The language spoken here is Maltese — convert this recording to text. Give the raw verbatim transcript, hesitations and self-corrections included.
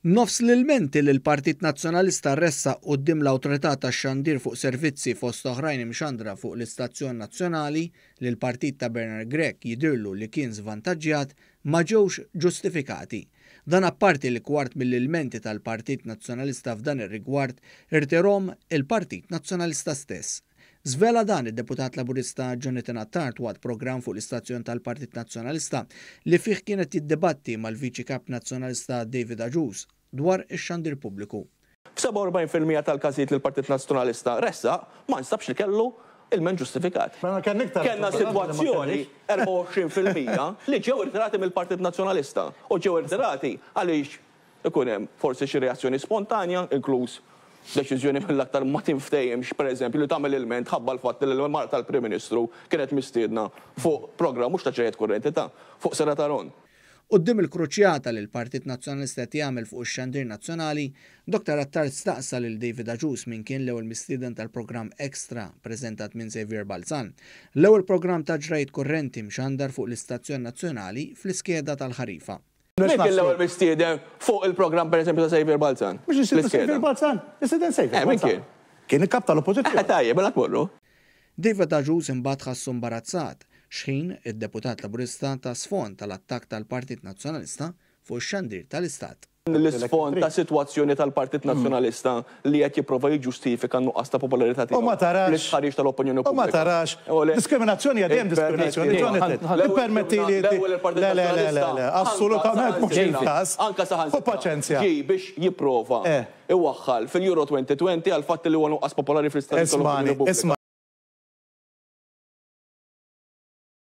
Nofs l-ilmenti li l-Partit Nazzjonalista ressaq quddiem l-Awtorità tax-Xandir fuq servizzi fost oħrajn imxandra fuq l-Istazzjon Nazzjonali li l-partit ta' Bernard Grech jidirlu li kien żvantaġġjat ma ġewx ġustifikati. Dan apparti li kwart mill-ilmenti tal-Partit Nazzjonalista f'dan ir-rigward irtirahom il-Partit Nazzjonalista stess. Żvela dan id-deputat Laburista Jonathan Attard waqt programm fuq l-istazzjon tal-Partit Nazzjonalista li fih kienet jiddibatti mal-Viċi Kap Nazzjonalista David Agius dwar ix-xandir pubbliku. F'sebgħa u erbgħin fil-mija tal-każijiet li l-Partit Nazzjonalista ressaq ma nstabx li kellu ilment ġustifikat. Kellna sitwazzjoni erbgħa u għoxrin fil-mija li ġew irtirati mill-Partit Nazzjonalista u ġew irtirati għaliex ikun hemm forsi xi reazzjoni spontanja, inkluż deċiżjoni mill-aktar ma tinftehimx, pereżempju, li tagħmel ilment ħabba l-fatt li l-mara tal-Prim Ministru kienet mistiedna fuq programm mhux ta' ġrajiet kurrenti, ta' fuq Serata Ron. Quddiem il-kruċjata li l-Partit Nazzjonalista qed jagħmel fuq ix-xandir nazzjonali, Doktor Attard staqsa lil David Agius min kien l-ewwel mistieden tal-programm Extra preżentat minn Xavier Balzan. L-ewwel programm ta' ġrajiet kurrenti mxandar fuq l-istazzjon nazzjonali fl-iskeda tal-ħarifa. Min kien l-ewwel mistieden fuq il-programm, pereżempju, ta' Xavier Balzan? Mhux Xavier Balzan, President Xavier. Eh, min kien? Kien il-kap tal-oppożizzjoni. Eh, tajjeb, mela tmorru. David Agius imbagħad ħassu imbarazzat xħin id-deputat Laburista ta sfond tal-attakk tal-Partit Nazzjonalista fuq ix-xandir tal-Istat. L-isfond ta' sitwazzjoni tal-Partit Nazzjonalista li qed jipprova jiġġustifika n-nuqqas ta' popolarità tiegħu. U ma tarax. L-istħarriġ tal-opinjoni U ma pubblika. tarax. Diskriminazzjoni għadjem diskriminazzjoni. Jonathan, ippermetti li. L-ewwel il-Partit Le, le, le, le, le, Nazzjonalista assolutament mhux il-każ. Anka saħansitra U paċenzja. Ġi biex jipprova Eh. iwaħħal fil-Euro elfejn u għoxrin għal fatt li huwa nuqqas popolari fl-istħarriġ Ismani, tal-opinjoni pubblika. isma'